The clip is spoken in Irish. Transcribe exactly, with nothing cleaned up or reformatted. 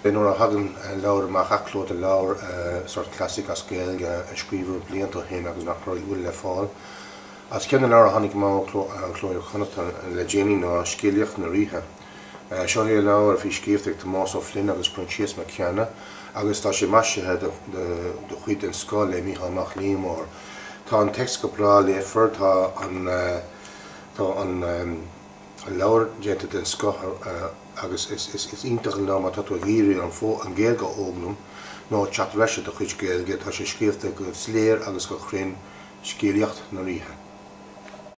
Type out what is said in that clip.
Nuair a thagann leabhar amach, athchló de leabhar sort classic as Gaeilge a scríobhadh blianta ó shin agus nach bhfuil le fáil. As ceann na leabhar a tháinig amach ó Chló Iar-Chonnachta le déanaí ná Scéalaíocht na Ríthe. Seo é leabhar a bhí scríofa ag Tomás Ó Floinn agus Proinsias Mac Ceanna agus tá sé maisithe de chuid den scoth le Mícheál Mac Liammóir. Tá an téacs go breá léifear, tá an tá an leabhar déanta den scoth agus is iontach an leabhar má tá tú ag iarraidh an an Ghaeilge a fhoghlaim nó teacht leis do chuid Gaeilge, tá sé scríofa go soiléir agus go cruinn Scéalaíocht na Ríthe.